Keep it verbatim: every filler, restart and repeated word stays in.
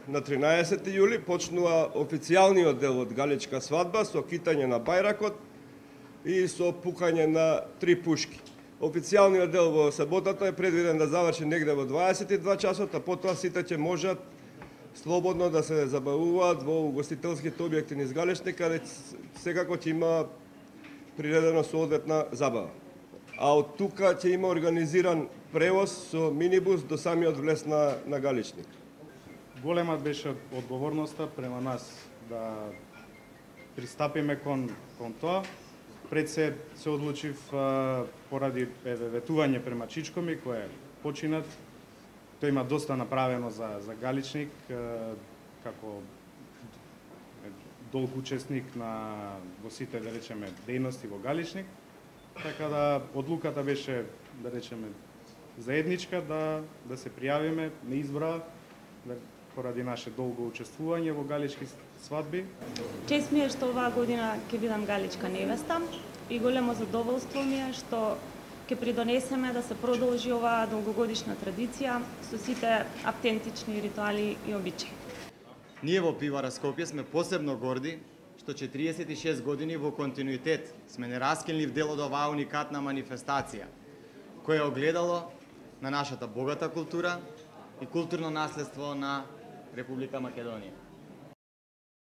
на тринаесети јули почнува официјалниот дел од галичка свадба со китање на бајракот и со пукање на три пушки. Официјалниот дел во саботата е предвиден да заврши негде во дваесет и два часот, а потоа сите ќе можат слободно да се забавуваат во угостителските објекти низ Галичник, каде секако ќе има приредено соодветна забава. А од тука ќе има организиран превоз со минибус до самиот влез на, на Галичник. Голема беше одговорноста према нас да пристапиме кон, кон тоа. Пред се се одлучив а, поради ветување према Чичкоми, кој е починат. Тој има доста направено за, за Галичник, а, како долг учесник на во сите, да речеме, дејности во Галичник. Така да одлуката беше, да речеме, заедничка да да се пријавиме на избора да, поради наше долго учествување во галички свадби. Чест ми е што оваа година ќе бидам галичка невеста и големо задоволство ми е што ќе придонесеме да се продолжи оваа долгогодишна традиција со сите автентични ритуали и обичаи. Ние во Пивара Скопје сме посебно горди што четириесет и шест години во континуитет сме нераскинлив дел од оваа уникатна манифестација, која е огледало на нашата богата култура и културно наследство на Република Македонија.